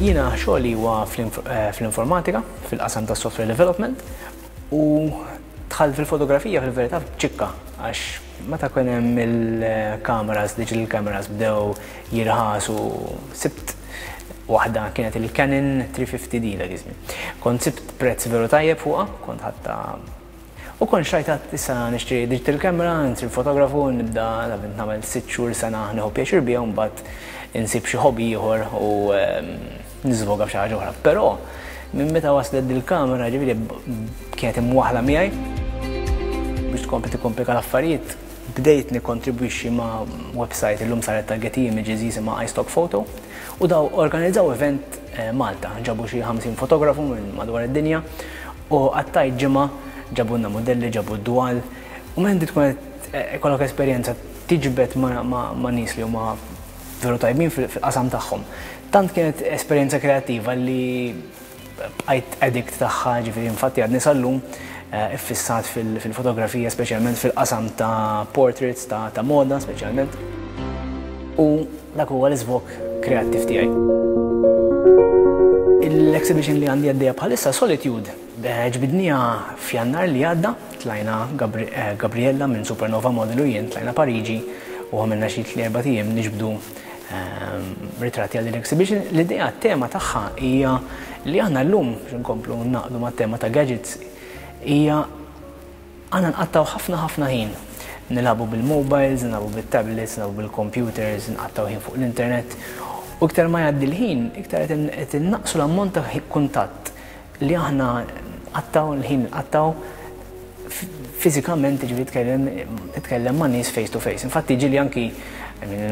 Jiena xogħli huwa fl-informatika, fil-qasam tas software development u dħalt fil-fotografija fil-verità b'ċikka għax meta kien hemm il-kameras, digital cameras bdew jirħasu sibt waħda kienet il-Canon 350D dak iż-żmien. Kont sibt prezz veru tajjeb fuqha, kont ħadtha U kont xtrajt għad issa nixtri digital camera, nsir fotografu, nibda nagħmel sitt xhur sena nieħu pjaċir biha u mbagħad insib xi hobby ieħor u niżvoga f'xi ħaġa oħra. Però minn meta waslet dil-kamera ġifieri kienet imwaħħla miegħi biex tkompli tikkomplika l-affarijiet bdejt nikkontribwixxi ma' website illum saret ta' Getty Images jisimha iStock Photo u daw organizzaw event Malta, ġabu xi 50 fotografu minn madwar id-dinja U qattajt ġimgħa, ġabulna mudelli, ġabu d-dwal, u meta inti tkun qed ikollok esperjenza tiġbed ma' nies li huma veru tajbin fil-qasam tagħhom. Tant kienet esperjenza kreattiva li bqajt addict tagħha, ġifieri infatti għadni sal-lum iffissat fil-fotografija, speċjalment fil-qasam ta' portraits, ta' moda speċjalment. U Dak huwa l-iżvog kreattiv tiegħi. L-exhibition li għandi għaddejja bħalissa Solitude ġbidniha f'Jannar li għadda, tlajna Gabriella minn Supernova Model u jien tlajna Pariġi u għamilna xi tli erbat ijiem niġbdu ritratti għal din l-exhibition. L-idea t-tema tagħha hija li aħna llum biex inkomplu naqdu mat-tema ta' gadgets hija Aħna nqattgħu ħafna ħafna ħin nilagħbu bil-mobiles, nilagħbu bit-tablets, nilagħbu bil-computers, nqattgħu ħin fuq l-internet. U iktar ma jgħaddi l-ħin, iktar qed innaqqsu l-ammont ta' kuntatt li aħna nqattgħu, l-ħin li nqattgħu fiżikament, jiġifieri tkellem titkellem ma' nies face to face. Infatti ġieli anki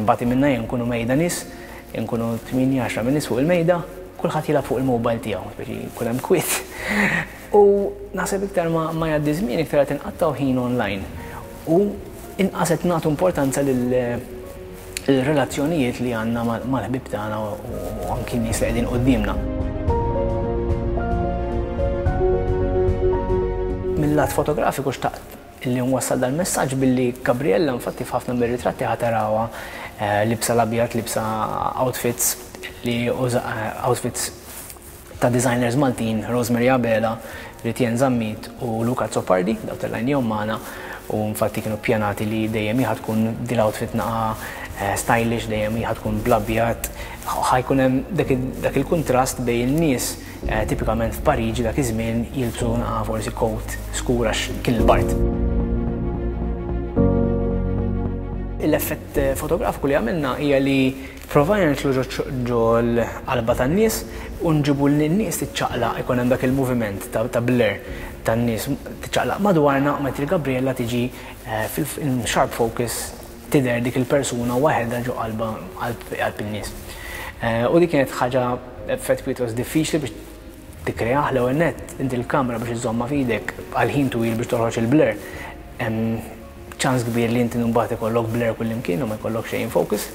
nbati minnha jien nkunu mejda nies, inkunu tmienja għaxra min-nies fuq il-mejda, kulħadd jilgħab fuq il-mobile tiegħu, speċi jkun hemm kwiet. U naħseb iktar ma jgħaddi żmien iktar qed inqattgħu ħin online u inqas qed nagħtu importanza lil relazzjonijiet li għandna mal-ħbieb tagħna u anki n-nies li qegħdin quddiemna. Mil-lat fotografiku xtaqt li nwassal dal-messaġġ billi Gabriella infatti f'ħafna mir-ritratti ħa tarawha libsa l-abjad, libsa outfits li outfits ta' designers Maltin, Rosemary Abela, Ritienne Zammit u Luca Azzopardi, daw tellajnihom magħna u infatti kienu ppjanati li dejjem hi ħa tkun din l-outfit naqa stylish, dejjem hi ħa tkun bl-abjad, ħa jkun hemm dak il-kuntrast bejn in-nies tipikament f'Pariġi dak iż-żmien jilbsu naqa forsi coat skur għax kien il-bard. L-effett fotografiku li għamilna hija li Provajna nidħlu ġo l-qalba tan-nies u nġibu lin-nies tiċċaqlaq, ikun hemm dak il-moviment ta' blur tan-nies tiċċaqlaq madwarna u mentri Gabriella tiġi in sharp focus tidher dik il-persuna waħedha ġo qalba qalb in-nies. U dik kienet ħaġa effett pjuttost diffiċli biex tikkreah l-ewwel nett inti l-kamera biex iżżommha f'idek għal ħin twil biex toħroġ il-blur hemm ċans kbir li inti mbagħad ikollok blur kullimkien u ma jkollok xejn in focus.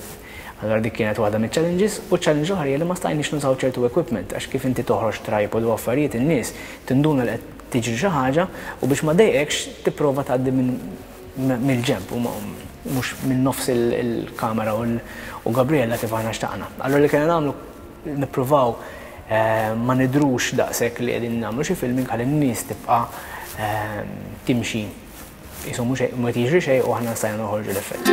Allura dik kienet waħda miċ-challenges u challenge oħra hija li ma stajniex nużaw ċertu equipment għax kif inti toħroġ tripod u affarijiet in-nies tinduna li qed tiġri xi ħaġa u biex ma ddejqekx tipprova tgħaddi minn mill-ġenb u mhux minn nofs il-kamera u Gabriella kif aħna xtaqna. Allura li kellna nagħmlu nippruvaw ma nidhrux daqshekk li qegħdin nagħmlu xi filming ħalli n-nies tibqa' timxi Qisu mhux mhu qed jiġri xejn u aħna stajna noħorġu l-effett.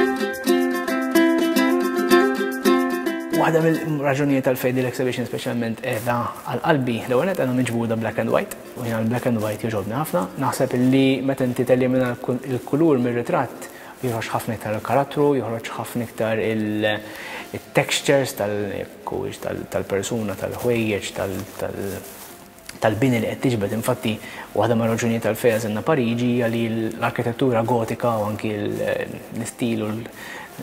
Waħda mill-raġunijiet għalfejn din l-exhibition speċjalment qiegħda għal qalbi, l-ewwel nett għandha miġbuda black and white u jiena l-black and white jogħġobni ħafna. Naħseb li meta inti telimina l-kulur mir-ritratt joħroġ ħafna iktar il-karattru, joħroġ ħafna iktar il-textures tal-persuna, tal-ħwejjeġ, tal tal-bini li qed tiġbed. Infatti, waħda mir-raġunijiet għalfejn għażilna Pariġi hija li l-arkitettura gotika u anki l-istil u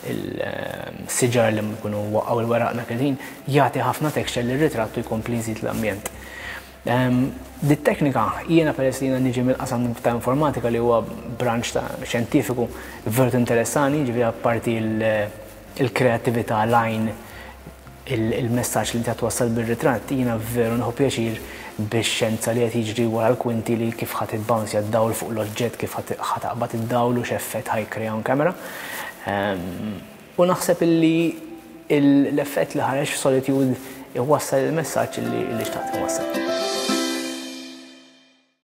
l-siġar li jkunu waqgħu l-weraq dak il-ħin jagħti ħafna texture lir-ritratt u jkompli jżid l-ambjent. Dit-teknika jiena peress li jiena niġi mill-qasam ta' informatika li huwa branch ta' xjentifiku veru tinteressani, jiġifieri apparti l-kreattività, l-għajn, il-messaġġ li inti qed twassal bir-ritratt, jiena veru nieħu pjaċir bix-xjenza li qed jiġri wara l-kwinti li kif ħa tibbounce d-dawl fuq l-oġġett, kif ħa taqbad id-dawl u x'effett ħa jikkrea on camera. U naħseb illi l-effett li ħareġ f'Solitude iwassal il-messaġġ li xtaqt inwassal.